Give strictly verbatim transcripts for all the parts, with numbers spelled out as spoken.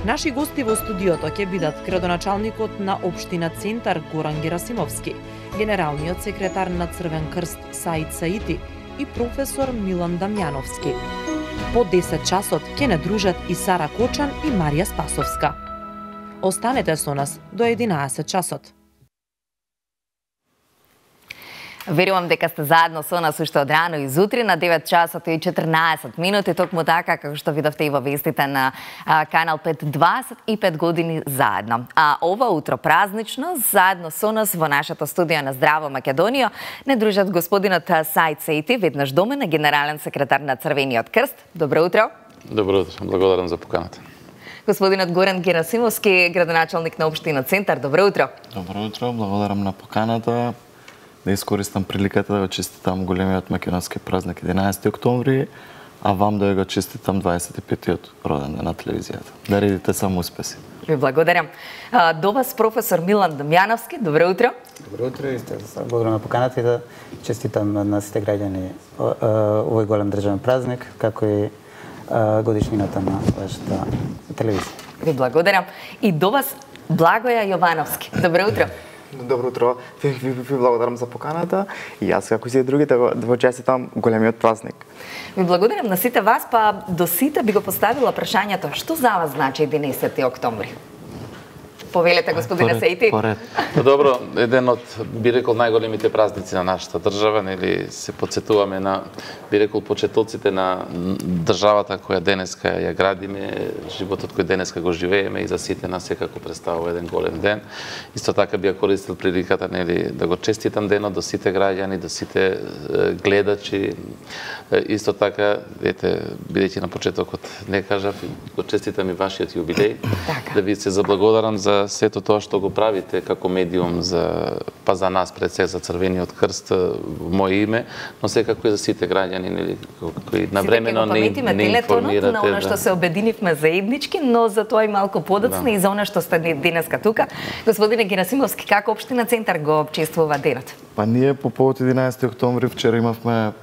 Наши гости во студиото ќе бидат градоначалникот на општина Центар Горан Герасимовски, генералниот секретар на Црвен крст Саид Саити и професор Милан Дамјановски. По десет часот ќе не дружат и Сара Кочан и Марија Спасовска. Останете со нас до единаесет часот. Верувам дека сте заедно со нас уште од рано и зутри на девет часот и четрнаесет минути, токму така како што видовте и во вестите на а, канал пет, дваесет и пет години заедно. А ова утро празнично заедно со нас во нашето студио на Здраво Македонија не дружат господинот Саид Саити, веднаш домен генерален секретар на Црвениот крст. Добро утро. Добро утро, благодарам за поканата. Господинот Горан Герасимовски, градоначалник на општина Центар. Добро утро. Добро утро, благодарам на поканата. Да искористам приликата да го честитам големиот македонски празник единаесети октомври, а вам да го честитам дваесет и петиот роден ден на телевизијата. Да редите само успеси. Ви благодарам. До вас професор Милан Дамјановски. Добро утро. Добро утро и благодарам на поканата и да честитам на сите граѓани овој голем државен празник, како и годишнината на вашата телевизија. Ви благодарам. И до вас Благоја Јовановски. Добро утро. Добро утро. Ви, ви, ви благодарам за поканата и јас како и сите другите да го честитам големиот празник. Ви благодарам на сите вас, па до сите би го поставила прашањето што за вас значи единаесети октомври? Повелете, господине Саити. Добро, еден од, би рекол, најголемите празници на нашата држава, нели се потсетуваме на, би рекол, почетоците на државата која денеска ја градиме, животот кој денеска го живееме и за сите нас секако представува еден голем ден. Исто така би ја користил приликата, нели, да го честитам денот до сите граѓани, до сите гледачи. Исто така, ете, бидејќи на почетокот не кажав, го честитам и вашиот јубилеј, да ви се заблагодарам за сето тоа што го правите како медиум за па за нас пред се за Црвениот крст во моје име, но секако и за сите граѓани, нели, кои навремено не не информирате на она што се обединивме заеднички, но за тоа и малку подоцна да. И за она што сте денеска тука. Господине Герасимовски, како општина Центар го чествува денот? Па ние по повод единаесети октомври вчера имавме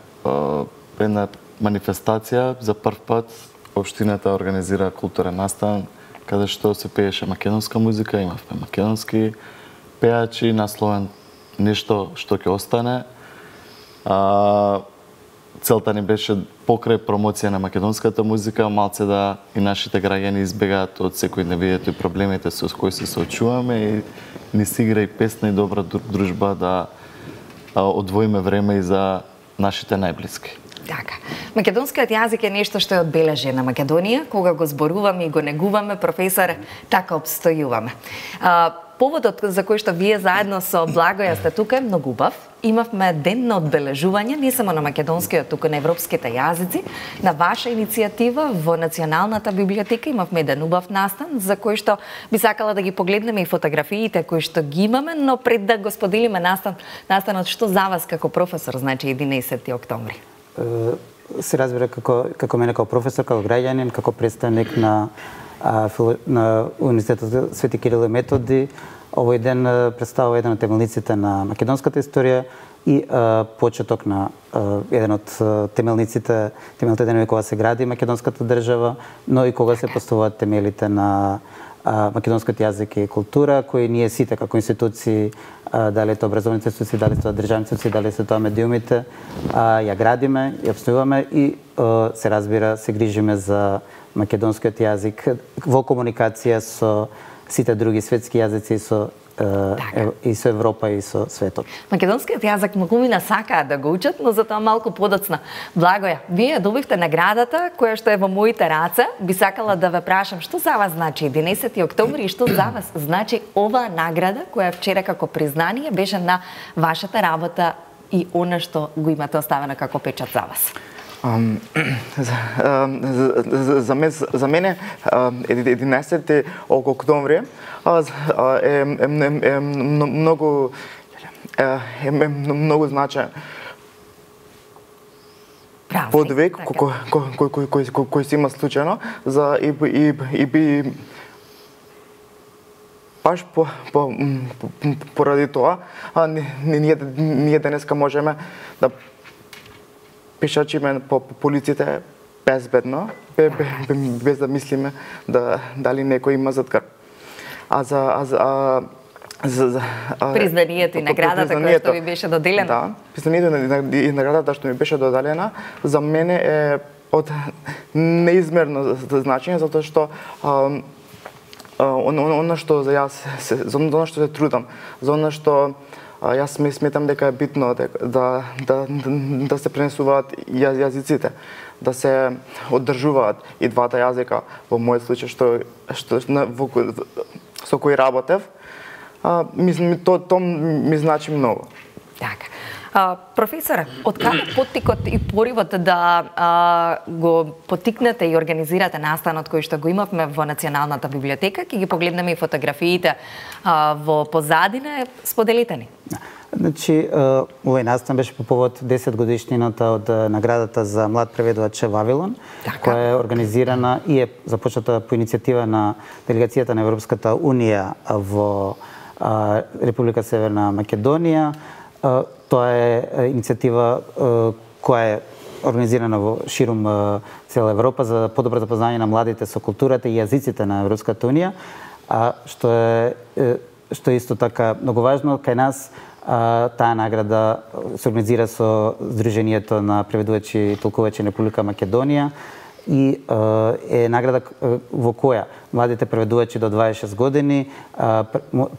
една манифестација за прв пат општината организира културен настан каде што се пееше македонска музика, имавме македонски пеачи, насловен нешто што ќе остане. А, целта ни беше покрај промоција на македонската музика, малце да и нашите граѓани избегаат од секојдневието и проблемите со кои се соочуваме и ни се игра и песна и добра дружба да одвоиме време и за нашите најблиски. Така. Македонскиот јазик е нешто што е одбележено на Македонија, кога го зборуваме и го негуваме, професор, така обстојуваме. А, поводот за кој што вие заедно со Благоја сте тука е многу убав. Имавме ден на одбележување не само на македонскиот, туку на европските јазици. На ваша иницијатива во Националната библиотека имавме еден убав настан за кој што би сакала да ги погледнеме и фотографиите кои што ги имаме, но пред да го споделиме настан, настанот што за вас како професор значи единаесети октомври? Се разбира како како мене како професор, како граѓанин, како представник на а, на Универзитетот Свети Кирил и Методи, овој ден представува еден од темелниците на македонската историја и а, почеток на а, еден од темелниците, темелните денови кога се гради македонската држава, но и кога се поставуваат темелите на а, македонскиот јазик и култура, кои ние сите како институции, а, дали е тоа образовните институции, дали се тоа државни институции, дали се тоа медиумите, а, ја градиме, ја обстојуваме и а, се разбира, се грижиме за македонскиот јазик во комуникација со сите други светски јазици, со Е, и со Европа и со светот. Македонскиот јазик многумина сакаат да го учат, но за тоа малку подоцна. Благоја, вие добивте наградата која што е во моите раце. Би сакала да ве прашам што за вас значи единаесети октомври и што за вас значи оваа награда која вчера како признание беше на вашата работа и она што го имате оставено како печат за вас. Um, за, uh, за, за, мен, за мене единаесети октомври е, е, е, е многу е, е многу значаен подвиг кој кој кој кој се има случајно за и и и би баш по по поради тоа ние ние денеска можеме да пешачиме по полиците безбедно, без да мислиме да дали некој има зад грб. А за а за а, за, за а, признанието и наградата која што ви беше доделена. Да, признанието и наградата што ми беше доделена за мене е од неизмерно значење, затоа што а, она што за јас за она што се трудам, за она што јас сметам дека е битно дека, да, да, да се пренесуваат јазиците, да се одржуваат и двата јазика во мојот случај што што во, со кој работев, а, ми, то, то ми значи многу. Така. А, професоре, од каде поттикот и поривот да а, го поттикнете и организирате настанот кој што го имавме во Националната библиотека? Ќе ги погледнеме и фотографиите а, во позадина, споделите ни. Значи, овој настан беше по повод десет годишнината од наградата за млад преведувач Вавилон, така, која е организирана и е започната по иницијатива на делегацијата на Европската унија во а, Република Северна Македонија. А, тоа е иницијатива а, која е организирана во ширум а, цела Европа за подобро запознање на младите со културата и јазиците на Европската унија, а што е што е исто така многу важно кај нас. А, таа награда се организира со Сдруженијето на преведувачи и толкувачи на Република Македонија и а, е награда во која младите преведувачи до дваесет и шест години а,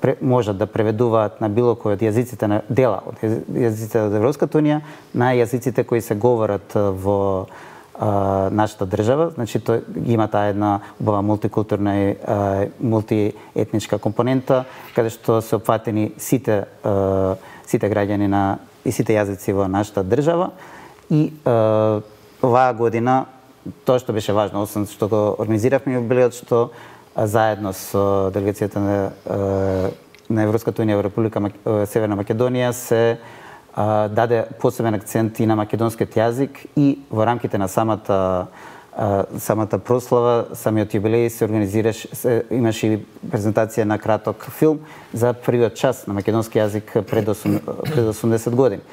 пре, можат да преведуваат на било кој од јазиците на дела од јазиците од Европската унија на јазиците кои се говорат во а, нашата држава. Значи тој има таа една убава мултикултурна и а, мултиетничка компонента каде што се опфатени сите а, сите граѓани на и сите јазици во нашата држава и а, оваа година тоа што беше важно, освен што го организиравме јубилеот, што а, заедно со делегацијата на, а, на Европската унија во Република Мак... Северна Македонија се а, даде посебен акцент и на македонскиот јазик и во рамките на самата а, самата прослава, самиот јубилеј се организираше, се, имаше и презентација на краток филм за првиот час на македонски јазик пред, пред осумдесет години.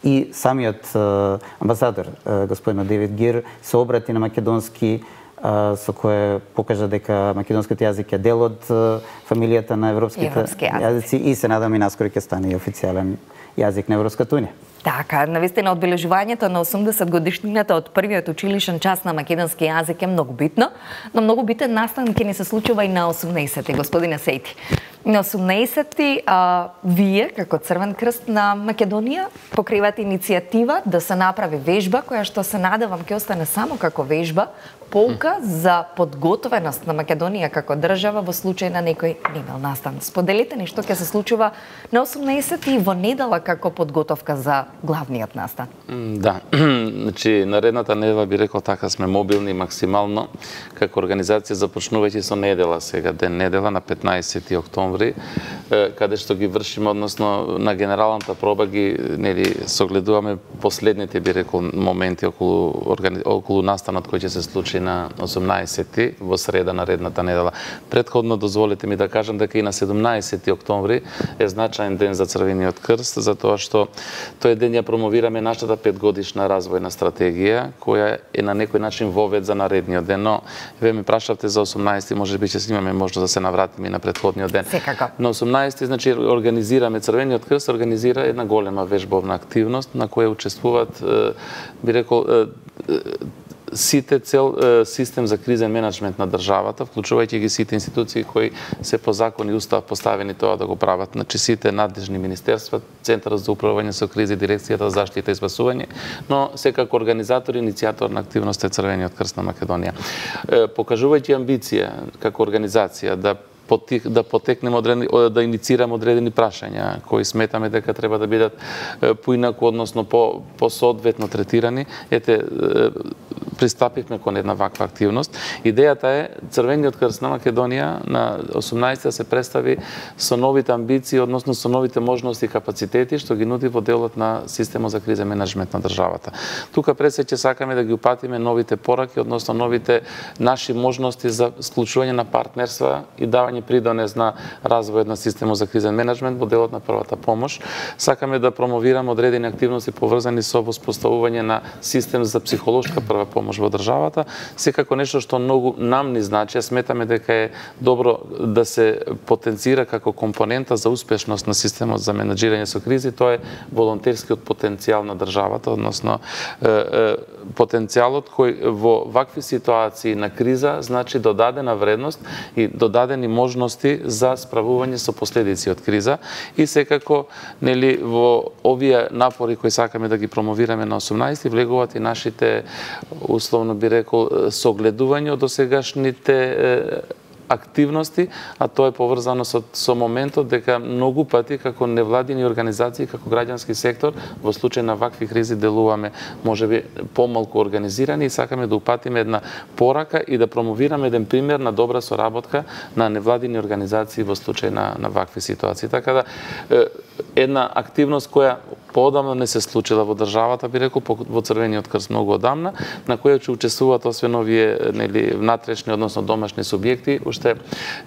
И самиот а, амбасадор, а, господинот Девид Гир, се обрати на македонски, а, со кое покажа дека македонскиот јазик е дел од а, фамилијата на европските Европски јазици и се надам и наскоро ќе стане и официјален јазик на Европската унија. Така, навистина одбележувањето на осумдесет годишнината од првиот училишен час на македонски јазик е многу битно, но многу битен настан ќе ни се случува и на осумнаесетти, господине Сејти. На осумнаесетти а, вие, како Црвен крст на Македонија, покривате иницијатива да се направи вежба, која што се надевам ќе остане само како вежба, полка за подготвеност на Македонија како држава во случај на некој немил настан. Споделите ни што ќе се случува на осумнаесетти и во недела како подготовка за главниот настан. Да, значи наредната недела би рекол така сме мобилни максимално како организација, започнувајќи со недела сега, ден недела на петнаесети октомври, каде што ги вршиме, односно на генералната проба ги нели согледуваме последните би рекол моменти околу органи... околу настанот кој ќе се случи на осумнаесети во среда наредната недела. Претходно дозволете ми да кажам дека и на седумнаесети октомври е значаен ден за Црвениот крст, затоа што тој ден ја промовираме нашата петгодишна развојна стратегија, која е на некој начин вовед за наредниот ден. Но вие ми прашавте за осумнаесети, може би ќе имаме можност да се навратиме и на претходниот ден. Секако. На осумнаесети, значи, организираме, Црвениот крст организира една голема вежбовна активност на која учествуваат, би рекол, сите цел систем за кризен менеджмент на државата, вклучувајќи ги сите институции кои се по закон и устав поставени тоа да го прават. Значи сите надлежни министерства, Центарот за управување со кризи, Дирекцијата за заштита и спасување, но секако организатор и иницијатор на активност е Црвениот крст на Македонија. Покажувајќи амбиција како организација да да потекнеме одредени, да иницираме одредени прашања кои сметаме дека треба да бидат поинаку, односно по посоодветно третирани, ете пристапивме кон една ваква активност. Идејата е Црвениот крст на Македонија на осумнаесети да се представи со новите амбиции, односно со новите можности и капацитети што ги нуди во делот на системот за кризен менеджмент на државата. Тука пред се ќе сакаме да ги упатиме новите пораки, односно новите наши можности за склучување на партнерства и давање придонес на развојот на системот за кризен менеджмент во делот на првата помош. Сакаме да промовираме одредени активности поврзани со воспоставување на систем за психолошка прва помош помош во државата, секако нешто што многу нам ни значи, сметаме дека е добро да се потенцира како компонента за успешност на системот за менаџирање со кризи, тоа е волонтерскиот потенцијал на државата, односно е, е, потенцијалот кој во вакви ситуации на криза значи додадена вредност и додадени можности за справување со последици од криза и секако нели во овие напори кои сакаме да ги промовираме на осумнаесети влегуваат и нашите условно би рекол согледување од досегашните активности, а тоа е поврзано со, со моментот дека многу пати како невладини организации, како граѓански сектор, во случај на вакви кризи делуваме можеби помалку организирани и сакаме да упатиме една порака и да промовираме еден пример на добра соработка на невладини организации во случај на, на вакви ситуации. Така да, една активност која поодамна не се случила во државата, би рекол, во Црвениот крст многу одамна, на која ќе учествуваат освен овие нели внатрешни, односно домашни субјекти, уште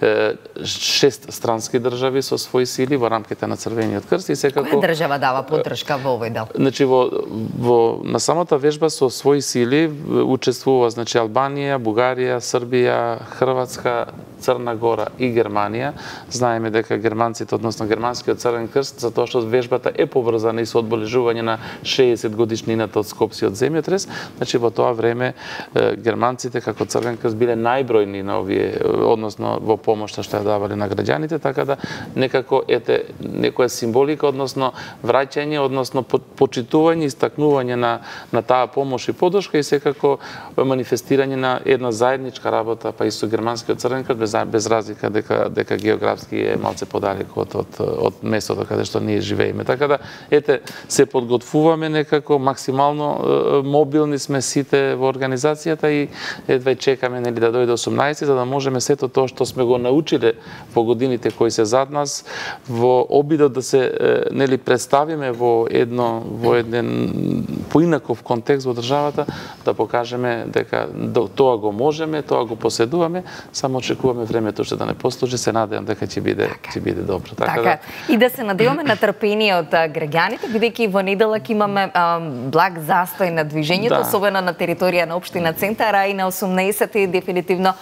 е, шест странски држави со своји сили во рамките на Црвениот крст и секако Која држава дава поддршка во овој дел? Значи во во на самата вежба со своји сили учествува значи Албанија, Бугарија, Србија, Хрватска, Црна Гора и Германија. Знаеме дека германците, односно германскиот Црвен крст, затоа што вежбата е поврзана и со одбележување на шеесет годишнината од Скопскиот земјотрес, значи во тоа време германците како Црвен крст биле најбројни на овие, односно во помошта што ја давале на граѓаните, така да некако ете некоја символика, односно враќање, односно почитување, истакнување на на таа помош и поддршка и секако манифестирање на една заедничка работа па и со германскиот Црвен крст, без, без разлика дека дека географски е малце подалеку од од од местото каде што ние живееме. Така да ете се подготвуваме некако максимално мобилни сме сите во организацијата и едва чекаме нели да дојде осумнаесети за да можеме сето тоа што сме го научиле во годините кои се зад нас во обидот да се нели представиме во едно во еден поинаков контекст во државата да покажеме дека тоа го можеме, тоа го поседуваме, само очекуваме времето што да не послужи, се надевам дека ќе биде ќе биде добро. Така, така да... и да се надеваме на трпение од граѓаните, бидејќи во неделак имаме а, благ застој на движењето, да. Особено на територија на општина Центар, а и на осумнаесети дефинитивно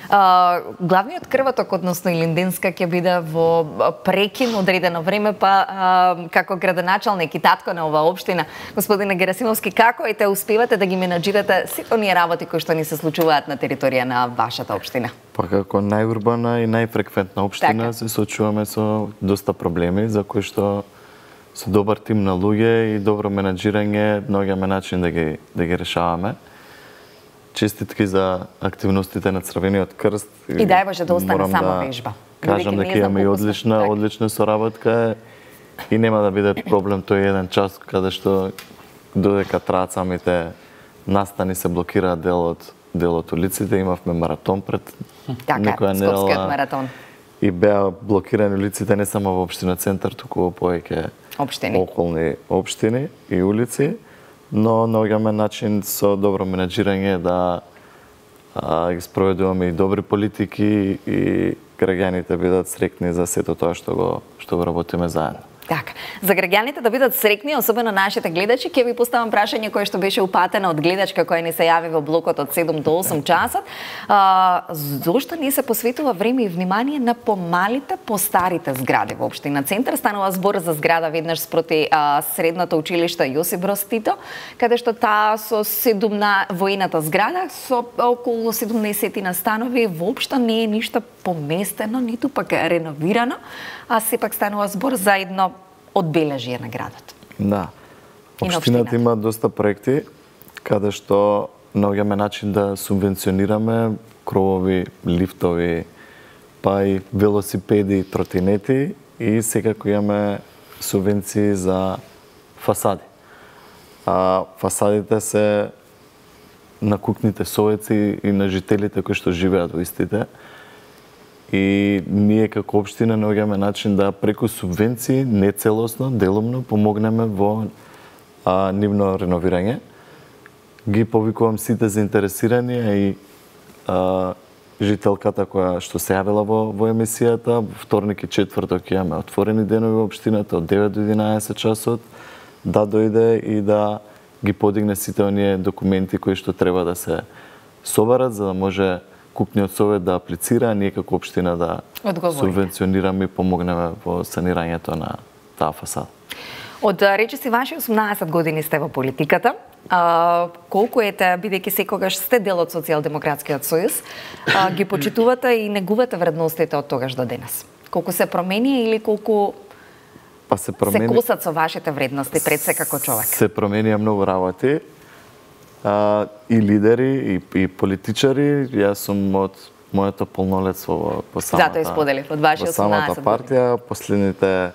Uh, главниот крвоток, односно Илинденска, ќе биде во прекин одредено време, па uh, како градоначалник и татко на оваа општина, господине Герасимовски, како ете успевате да ги менаџирате сите оние работи кои што ни се случуваат на територија на вашата општина? Па како најурбана и најфреквентна општина така. Се соочуваме со доста проблеми за кои што со добар тим на луѓе и добро менаџирање наоѓаме начин да ги да ги решаваме. Честитки за активностите на Црвениот крст. И дај Боже да остане само да вежба. Кажам дека имаме и одлична, так. одлична соработка и нема да биде проблем тој еден час каде што додека траат самите настани се блокираат делот делот улиците, имавме маратон пред така, некоја недела. Скопскиот маратон. И беа блокирани улиците не само во општина Центар, туку во повеќе општини. околни општини и улици. Но наоѓаме начин со добро менаџирање да а, ги спроведуваме и добри политики и граѓаните бидат среќни за сето тоа што го што го работиме заедно. Така, за граѓаните да бидат среќни, особено нашите гледачи, ќе ви поставам прашање кое што беше упатено од гледачка која ни се јави во блокот од седум до осум часот. А, зошто не се посветува време и внимание на помалите, постарите згради во општина Центар? Станува збор за зграда веднаш спроти а, средното училиште Јосип Броз Тито, каде што таа со седумна воената зграда со околу седумнаесет станови воопшто не е ништо поместено, ниту пак реновирано, а сепак станува збор за едно одбележие на градот. Да. Општината има доста проекти каде што наоѓаме начин да субвенционираме кровови, лифтови, па и велосипеди, тротинети и секако имаме субвенции за фасади. А фасадите се на кукните совеци и на жителите кои што живеат во истите. И ние како општина наоѓаме начин да преку субвенции, не целосно, делумно, помогнеме во а, нивно реновирање. Ги повикувам сите заинтересирани и а, жителката која што се јавила во, во емисијата. Вторник и четврток имаме отворени денови во општината од девет до единаесет часот, да дојде и да ги подигне сите оние документи кои што треба да се соберат за да може купниот совет да аплицира, а ние како општина да Одговорите. субвенционираме и помогнеме во санирањето на таа фасада. Од речиси ваши осумнаесет години сте во политиката. А, колку ете, бидејќи секогаш сте дел од Социјалдемократскиот сојуз, а, ги почитувате и негувате вредностите од тогаш до денес? Колку се промени или колку Па се промени... се косат со вашите вредности пред се како човек? Се променија многу работи. А, и лидери, и, и политичари. Јас сум од моето полнолетство во, по самата... Затоа споделив, од ваши во самата осумнаесет партија. Последните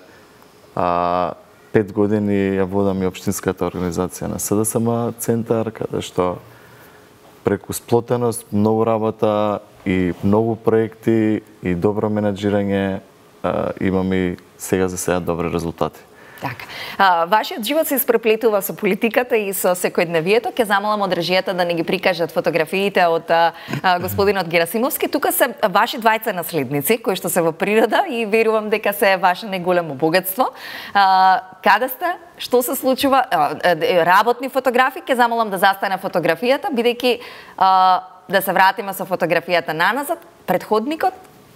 а, пет години ја водам и општинската организација на СДСМ центар, каде што преку сплотеност, многу работа и многу проекти и добро менаџирање имам и сега за сега добри резултати. Така. А, вашиот живот се испреплетува со политиката и со секојдневието. Ке замолам од режијата да не ги прикажат фотографиите од а, господинот Герасимовски. Тука се ваши двајца наследници кои што се во природа и верувам дека се ваше неголемо богатство. А, каде сте? Што се случува? А, работни фотографии. Ке замолам да застане фотографијата, бидејќи а, да се вратиме со фотографијата наназад, предходникот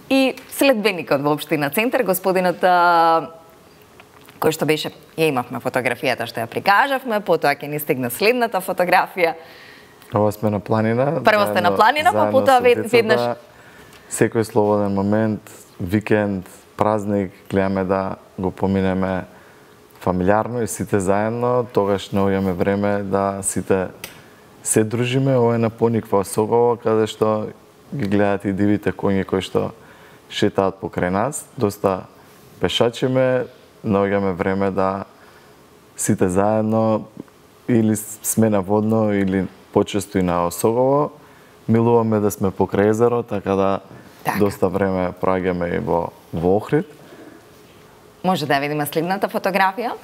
и следбеникот во општина Центар, господинот а, кој што беше, ја имавме фотографијата што ја прикажавме, потоа ќе ни стигна следната фотографија. Ова сме на планина. Прво сте на планина, па потоа веднаш. Секој слободен момент, викенд, празник, гледаме да го поминеме фамилиарно и сите заедно, тогаш наоѓаме време да сите се дружиме. Ова е на Пониква Согово, каде што ги гледат и дивите коњи кои што шетаат покрај нас. Доста пешачиме, наоѓаме време да сите заедно или сме на водно или почесто и на Осогово. Милуваме да сме покрај езеро, така да така. Доста време проаѓаме и во, во Охрид. Може да видиме следната фотографија.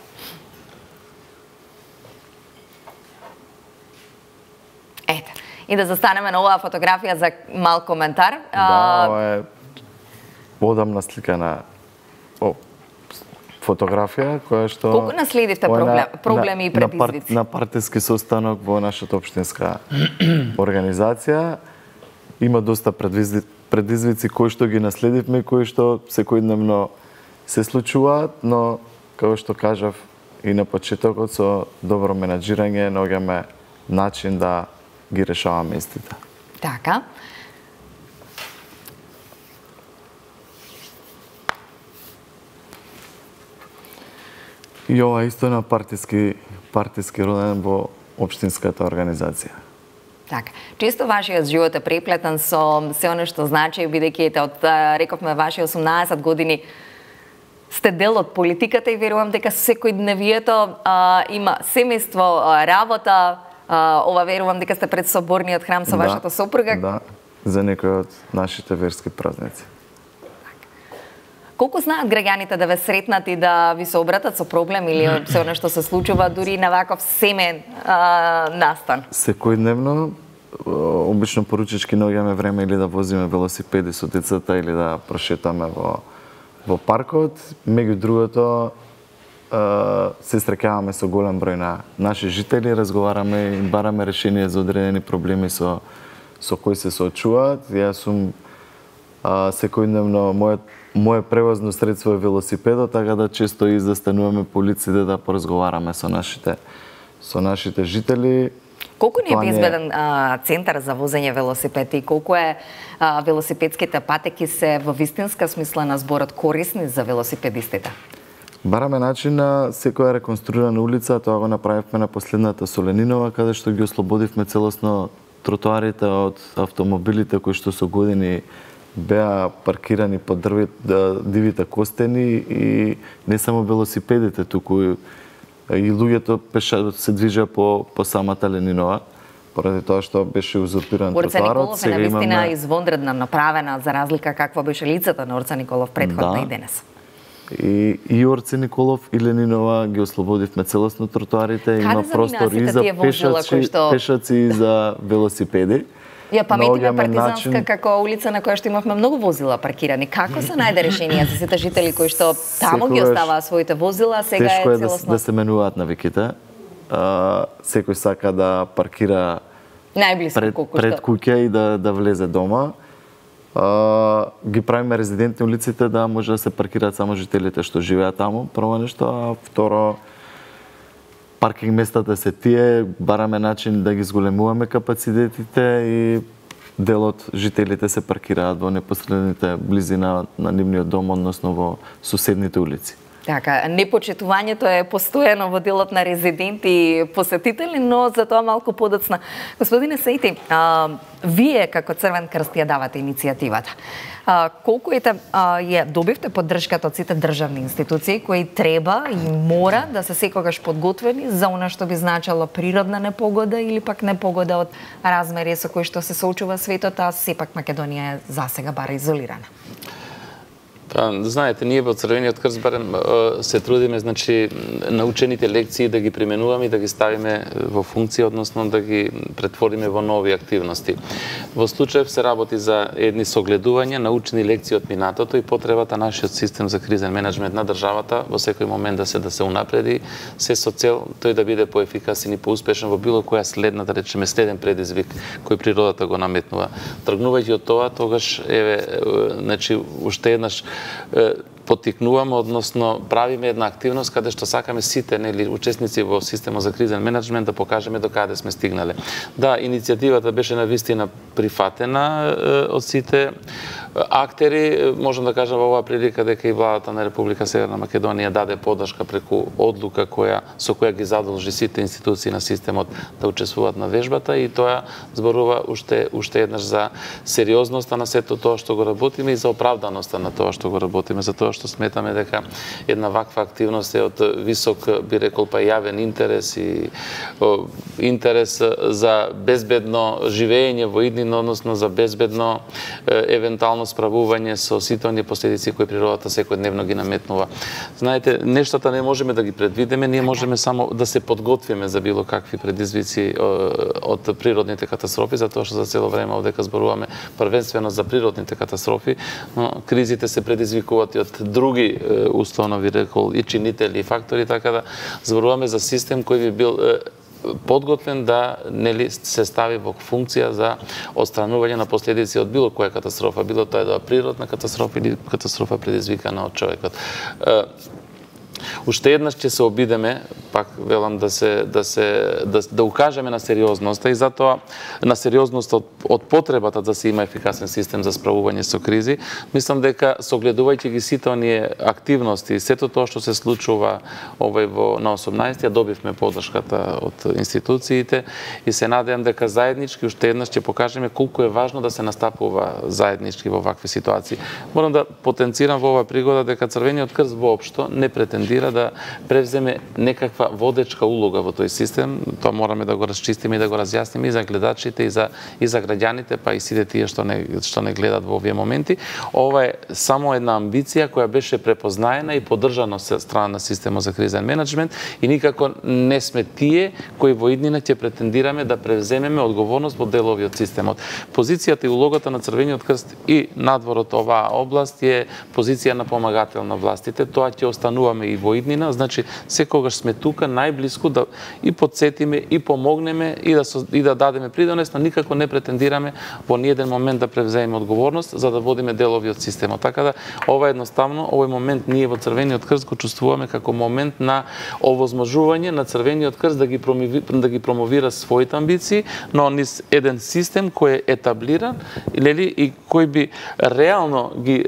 Ете. И да застанеме на оваа фотографија за мал коментар. Да, ова е одамна слика на о, фотографија која што... Колку наследивте проблем, проблеми на, и предизвици? На, на партиски состанок во нашата општинска организација има доста предизвици, предизвици кои што ги наследивме, кои што секојдневно се случуваат, но како што кажав и на почетокот, со добро менаџирање наоѓаме начин да ги решаваме истите. Така. И ова исто на партиски, партиски роден во општинската организација. Така. Често вашиот живот е преплетен со се оно што значи, бидејќи ете од рековме ваши осумнаесет години сте дел од политиката и верувам дека секојдневието а, има семејство, а, работа, а, ова верувам дека сте пред соборниот храм со Да, вашата сопруга. Да, за некои од нашите верски празници. Колку знаат граѓаните да ве сретнат и да ви се обратат со проблем или се оно што се случува дури на ваков семен а, настан? Секојдневно, обично поручички наоѓаме време или да возиме велосипеди со децата или да прошетаме во во паркот. Меѓу другото, се среќаваме со голем број на наши жители, разговараме и бараме решение за одредени проблеми со со кои се соочуваат. Јас сум а, секојдневно мојот мое превозно средство е велосипедот, така да често и застануваме по улиците да поразговараме со нашите со нашите жители. Колку ни е Тоа безбеден а, центар за возење велосипед и колку е а, велосипедските патеки се во вистинска смисла на зборот корисни за велосипедистите? Бараме начин на секоја реконструирана улица, тоа го направивме на последната Соленинова, каде што ги ослободивме целосно тротоарите од автомобилите кои што со години беа паркирани под дрви, да, дивите костени и не само велосипедите, туку и луѓето пеша се движеа по по самата Ленинова, поради тоа што беше узурпиран Орца тротоарот. Николов е навистина извонредна направена за разлика каква беше лицата на Орца Николов претходно Да. и денес. И, и Орце Николов и Ленинова ги ослободивме целосно тротоарите, има заминаа простор сите и за тие возила пешаци, кои што- пешаци и за велосипеди. Ја паметиме Наоѓаме партизанска начин- како улица на која што имавме многу возила паркирани. Како се најде решение за сите жители кои што тамо ги Секогаш оставаа своите возила, а сега Тешко е е да, целосно? да се менуваат навиките. а, секој сака да паркира Најблиску пред, колку пред што. куќа и да, да влезе дома. А, ги правиме резидентни улиците да може да се паркираат само жителите што живеат таму, прво нешто, а второ паркинг местата се тие, бараме начин да ги зголемуваме капацитетите и дел од жителите се паркираат во непосредните близина на нивниот дом, односно во соседните улици. Така, непочитувањето е постојано во делот на резиденти и посетители, но за тоа малку подоцна. Господине Саити, а, вие како Црвен крст ја давате иницијативата. А, колку ете а, ја добивте поддршката од сите државни институции кои треба и мора да се секогаш подготвени за она што би значало природна непогода или пак непогода од размери со кои што се соочува светот, а сепак Македонија е засега бара изолирана? Па, знаете, ние во Црвениот крст барем се трудиме, значи, научените лекции да ги применуваме и да ги ставиме во функција, односно да ги претвориме во нови активности. Во случаев се работи за едни согледувања, научени лекции од минатото и потребата нашиот систем за кризен менеджмент на државата во секој момент да се да се унапреди, се со цел тој да биде поефикасен и поуспешен во било која следна, да речеме, следен предизвик кој природата го наметнува. Тргнувајќи од тоа, тогаш еве, значи, уште еднаш поттикнуваме, односно правиме една активност каде што сакаме сите, нели, учесници во системот за кризен менеджмент да покажеме до каде сме стигнале. Да, иницијативата беше навистина прифатена од сите актери. Можам да кажам во оваа прилика дека и владата на Република Северна Македонија даде поддршка преку одлука која со која ги задолжи сите институции на системот да учествуваат на вежбата и тоа зборува уште уште еднаш за сериозноста на сето тоа што го работиме и за оправданоста на тоа што го работиме, за тоа што сметаме дека една ваква активност е од висок, би рекол, па јавен интерес и о, интерес за безбедно живење во иднина, односно за безбедно е, евентуално справување со сите оние последици кои природата секојдневно ги наметнува. Знаете, нештата не можеме да ги предвидиме, ние можеме само да се подготвиме за било какви предизвици од природните катастрофи, затоа што за цело време овдека зборуваме првенствено за природните катастрофи, но кризите се предизвикуваат и од други условно ви рекол и чинители и фактори, така да зборуваме за систем кој би бил подготвен да, нели, се стави во функција за отстранување на последици од било која катастрофа, било тоа да природна катастрофа или катастрофа предизвикана од човекот. Уште еднаш ќе се обидеме, пак велам да се да се да, да укажеме на сериозноста и затоа на сериозноста од, од потребата да се има ефикасен систем за справување со кризи. Мислам дека согледувајќи ги сите оние активности, сето тоа што се случува овој во на осумнаесети добивме поддршката од институциите и се надевам дека заеднички уште еднаш ќе покажеме колку е важно да се настапува заеднички во вакви ситуации. Морам да потенцирам во оваа пригода дека Црвениот крст воопшто не претендира да превземе некаква водечка улога во тој систем. Тоа мораме да го расчистиме и да го разјасниме и за гледачите и за и за граѓаните, па и сите тие што не што не гледат во овие моменти. Ова е само една амбиција која беше препознаена и поддржана од страна на системот за кризен менеджмент и никако не сме тие кои во иднина ќе претендираме да превземеме одговорност во делови од системот. Позицијата и улогата на Црвениот крст и надвор од оваа област е позиција на помагател на властите. Тоа ќе остануваме и во иднина, значи секогаш сме тука најблиску да и подсетиме и помогнеме и да со, и да дадеме придонес, но никако не претендираме во ниеден момент да превземеме одговорност за да водиме делови од системот. Така да ова едноставно овој момент ние во Црвениот крст го чувствуваме како момент на овозможување на Црвениот крст да ги промови, да ги промовира своите амбиции, но низ еден систем кој е етаблиран или и кој би реално ги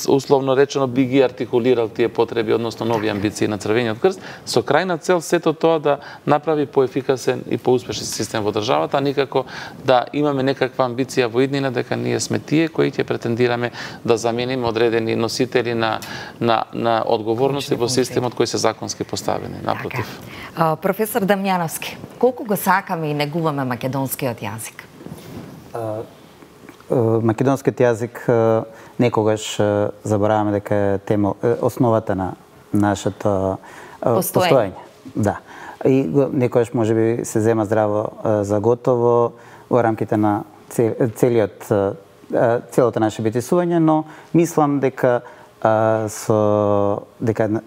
условно речено би ги артикулирал тие потреби, односно нови амбиции на Црвениот крст, со крајна цел сето тоа да направи поефикасен и поуспешен систем во државата, а никако да имаме некаква амбиција во иднина дека ние сме тие кои ќе претендираме да замениме одредени носители на на на одговорности во системот кои се законски поставени. Напротив. Така. Професор Дамјановски, колку го сакаме и негуваме македонскиот јазик? Македонскиот јазик некогаш забораваме дека е тема, основата на нашето постоење. Да. И некогаш можеби се зема здраво за готово во рамките на целиот целото наше битисување, но мислам дека со дека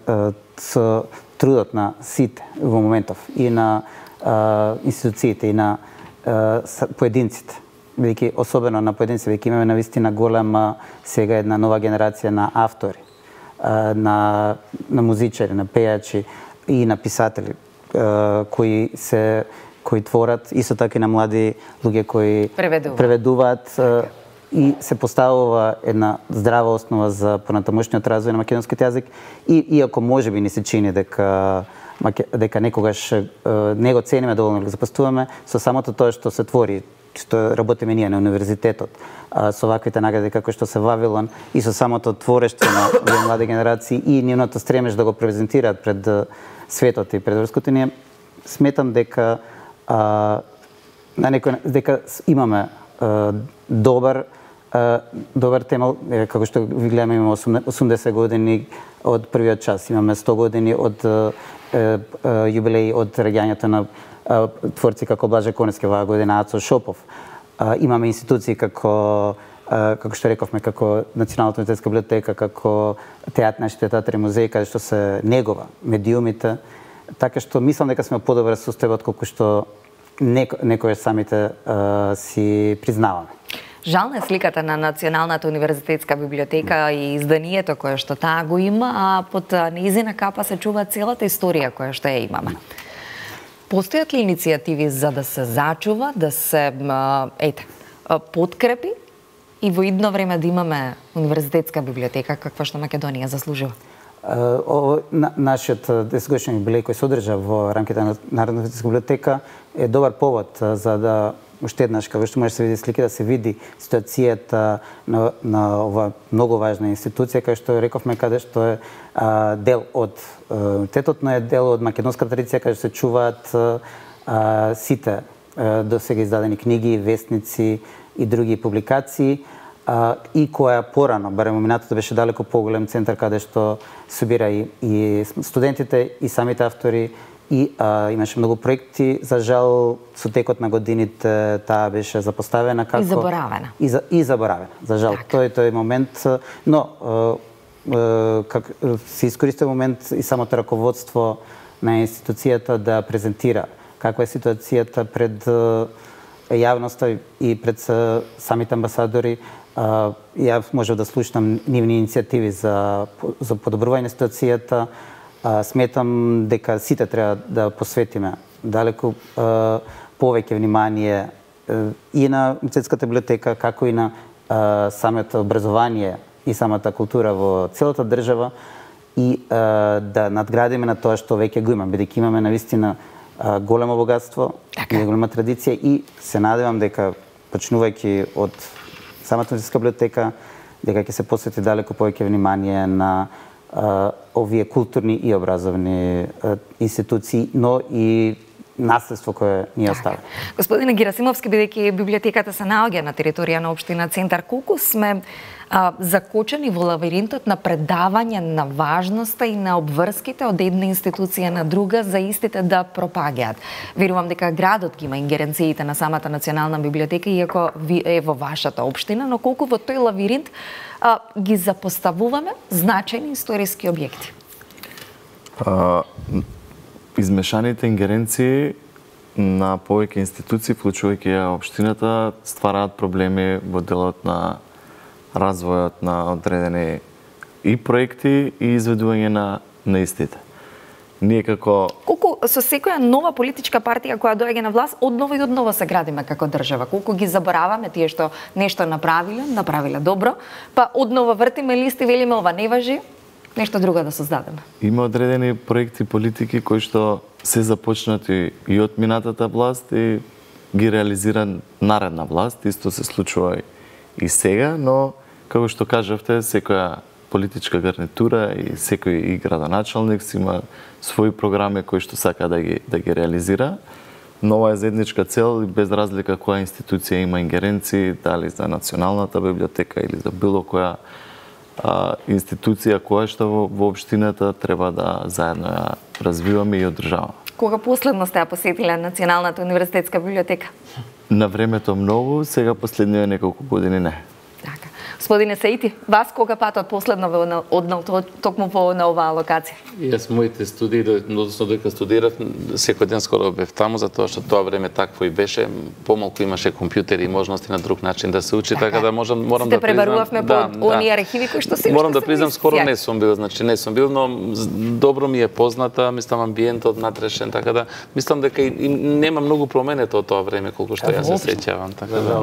со трудот на сите во моментов и на а, институциите и на а, поединците. Бидејќи особено на поединци, веќе имаме навистина голема сега една нова генерација на автори, а, на на музичари, на пејачи и на писатели а, кои се кои творат, исто така и на млади луѓе кои преведуваат, преведуваат а, и се поставува една здрава основа за понатамошниот развој на македонскиот јазик и иако можеби ни се чини дека дека некогаш не го цениме доволно, го запастуваме, со самото тоа што се твори, што работиме ние на универзитетот, со ваквите награди како што се Вавилон и со самото творештво на овие млади генерации и нивното стремеж да го презентираат пред светот и пред врското, ние сметам дека а, на некој дека имаме а, добар а, добар темел, како што ви гледаме, имаме осумдесет години од првиот час, имаме сто години од а, а, јубилеј од раѓањето на а, творци како Блаже Коневски, оваа година Ацо Шопов. А, имаме институции како а, како што рековме, како Националната универзитетска библиотека, како театар, нашите театри и музеи, каде што се негова медиумите, така што мислам дека сме подобар состојба колку што некој самите а, си признаваме. Жална е сликата на Националната универзитетска библиотека и изданието кое што таа го има, а под нејзина капа се чува целата историја која што ја имаме. Постојат ли иницијативи за да се зачува, да се ете, подкрепи и во идно време да имаме универзитетска библиотека каква што Македонија заслужува? Ово, на, нашиот десетгодишен јубилеј кој се одржа во рамките на Народната универзитетска библиотека е добар повод за да уште еднаш, како што може да се види слики, да се види ситуацијата на, на ова многу важна институција, кај што рековме, каде што е а, дел од универзитетот, но е дел од македонска традиција, каде се чуваат а, сите а, до сега издадени книги, вестници и други публикации, а, и која порано, барем минатото беше далеко поголем центар каде што собира и, и студентите и самите автори, и а, имаше многу проекти. За жал, со текот на годините таа беше запоставена како... И заборавена. И, за, и заборавена, за жал. Так. Тој тој момент, но е, е, как, се искористи момент и самото раководство на институцијата да презентира каква е ситуацијата пред јавноста и пред самите амбасадори. Ја можев да слушнам нивни иницијативи за, за подобрување на ситуацијата. А, сметам дека сите треба да посветиме далеку а, повеќе внимание а, и на универзитетската библиотека, како и на а, самото образование и самата култура во целата држава и а, да надградиме на тоа што веќе го имаме, бидејќи имаме навистина а, големо богатство така. И голема традиција и се надевам дека почнувајќи од самата универзитетска библиотека дека ќе се посвети далеку повеќе внимание на Uh, овие културни и образовни uh, институции, но и наследство кое ни остави. Господине Герасимовски, бидејќи библиотеката се наоѓа на територија на општина Центар, колку сме а, закочени во лавиринтот на предавање на важноста и на обврските од една институција на друга за истите да пропагаат? Верувам дека градот ги има ингеренциите на самата Национална библиотека, иако ви е во вашата општина, но колку во тој лавиринт а, ги запоставуваме значајни историски објекти? А, измешаните ингеренции на повеќе институции, вклучувајќи ја општината, ствараат проблеми во делот на развојот на одредени и проекти и изведување на, на истите. Ние како... Колку со секоја нова политичка партија која доаѓа на власт, одново и одново се градиме како држава. Колку ги забораваме тие што нешто направиле, направиле добро, па одново вртиме листи, велиме ова не важи, нешто друго да создадеме. Има одредени проекти, политики кои што се започнати и од минатата власт и ги реализира наредна власт. Исто се случува и сега, но како што кажавте, секоја политичка гарнитура и секој и градоначалник си има своји програми кои што сака да ги да ги реализира. Но ова е заедничка цел и без разлика која институција има ингеренции, дали за Националната библиотека или за било која а, институција која што во, во општината треба да заедно ја развиваме и одржаваме. Кога последно сте ја посетиле Националната универзитетска библиотека? На времето многу, сега последниве неколку години не. Така. Господине Саити, вас кога патот последно ве однал токму во на оваа локација? Јас моите студии, односно додека студирав, секој ден скоро бев таму, затоа што тоа време такво и беше, помалку имаше компјутери и можности на друг начин да се учи, така да можам морам да признам. Сте пребарувавме да, по оние архиви кои што се Морам да признам, скоро не сум бил, значи не сум бил, но добро ми е позната, мислам амбиентот натрешен, така да мислам дека и, и нема многу променето од тоа време колку што јас се сеќавам, така да.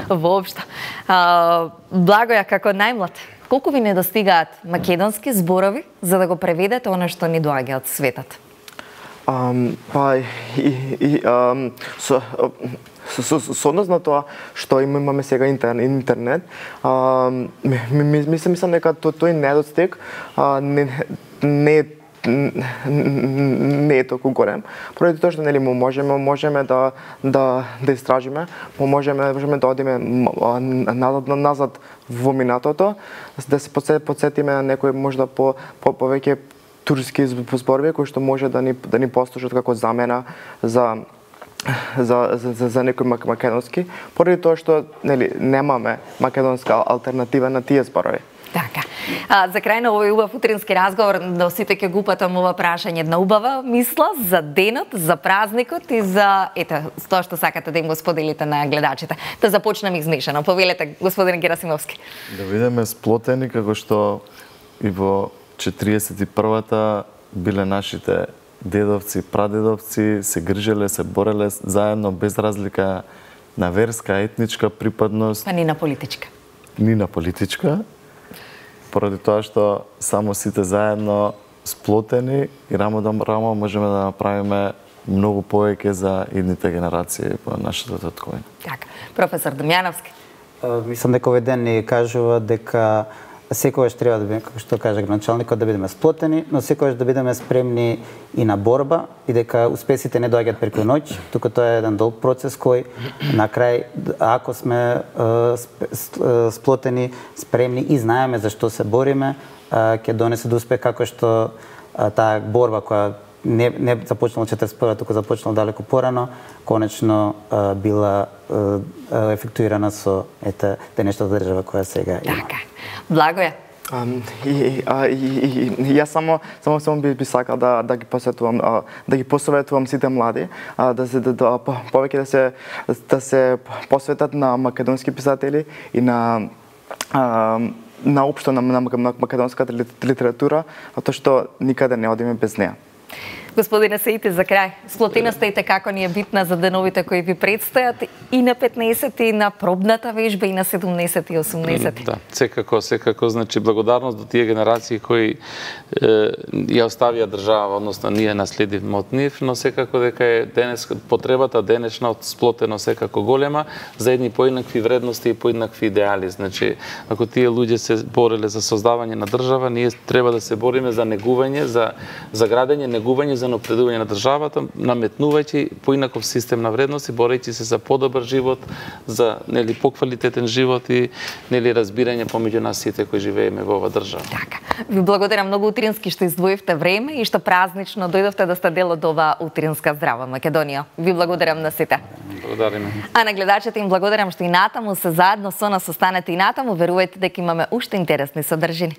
Воопшто. А, Благоја, како најмлад, колку ви недостигаат македонски зборови за да го преведете она што ни доаѓа од светот? Um, па и, и um, со, со, со, со однос на тоа што имаме сега интернет, um, мислам мислам дека тој недостиг uh, не не не е толку голем, поради тоа што нели можеме можеме да да да истражиме, можеме можеме да одиме назад назад во минатото, да се потсетиме на некои можда по по повеќе турски зборови кои што може да ни да ни послужат како замена за за за за, за некој македонски, поради тоа што нели немаме македонска алтернатива на тие зборови. Така. А, за крај на овој убав утрински разговор, да сите ќе го упатам ова прашање, една убава мисла за денот, за празникот и за ете тоа што сакате да им го споделите на гледачите. Да започнеме измешано. Повелете, господин Герасимовски. Да бидеме сплотени како што и во четириесет и првата биле нашите дедовци, прадедовци, се грижеле, се бореле заедно без разлика на верска, етничка припадност. Па ни на политичка. Ни на политичка. Поради тоа што само сите заедно сплотени и рамо до рамо можеме да направиме многу повеќе за идните генерации по нашата татковина. Така. Професор Дамјановски. Мислам дека овој ден ни кажува дека секогаш треба да бидеме, како што кажа градоначалникот, да бидеме сплотени, но секогаш да бидеме спремни и на борба и дека успесите не доаѓаат преку ноќ, туку тоа е еден долг процес кој на крај, ако сме е, сплотени, спремни и знаеме за што се бориме, ќе донесе до успех, како што е, таа борба која не не започнала четиридесет и прва, туку започнала далеко порано, конечно е, била е, ефектуирана со ете денешната држава која сега има. Така. Благоја. Um, и, а, и, и, и јас само само само би, би сакал да да ги посветувам а, да ги посоветувам сите млади а, да се да, да повеќе да се да се посветат на македонски писатели и на а, на општо на, на, на македонската литература, затоа што никаде не одиме без неа. Господине Саити, за крај, сплотеноста и како ни е битна за деновите кои ви предстојат и на петнаесет и на пробната вежба и на седумнаесет и осумнаесет. Да, секако, секако, значи благодарност до тие генерации кои е, ја оставија држава, односно ние наследивме од нив, но секако дека е денес потребата денешна од сплотено секако голема за едни поинакви вредности и поинакви идеали. Значи, ако тие луѓе се бореле за создавање на држава, ние треба да се бориме за негување, за за градење, негување, за напредување на државата, наметнувајќи поинаков систем на вредности, борејќи се за подобар живот, за нели поквалитетен живот и нели разбирање помеѓу нас сите кои живееме во оваа држава. Така. Ви благодарам многу утрински што издвоивте време и што празнично дојдовте да сте дел од оваа утринска здрава Македонија. Ви благодарам на сите. Благодариме. А на гледачите им благодарам што и натаму се заедно со нас останете и натаму, верувајте дека имаме уште интересни содржини.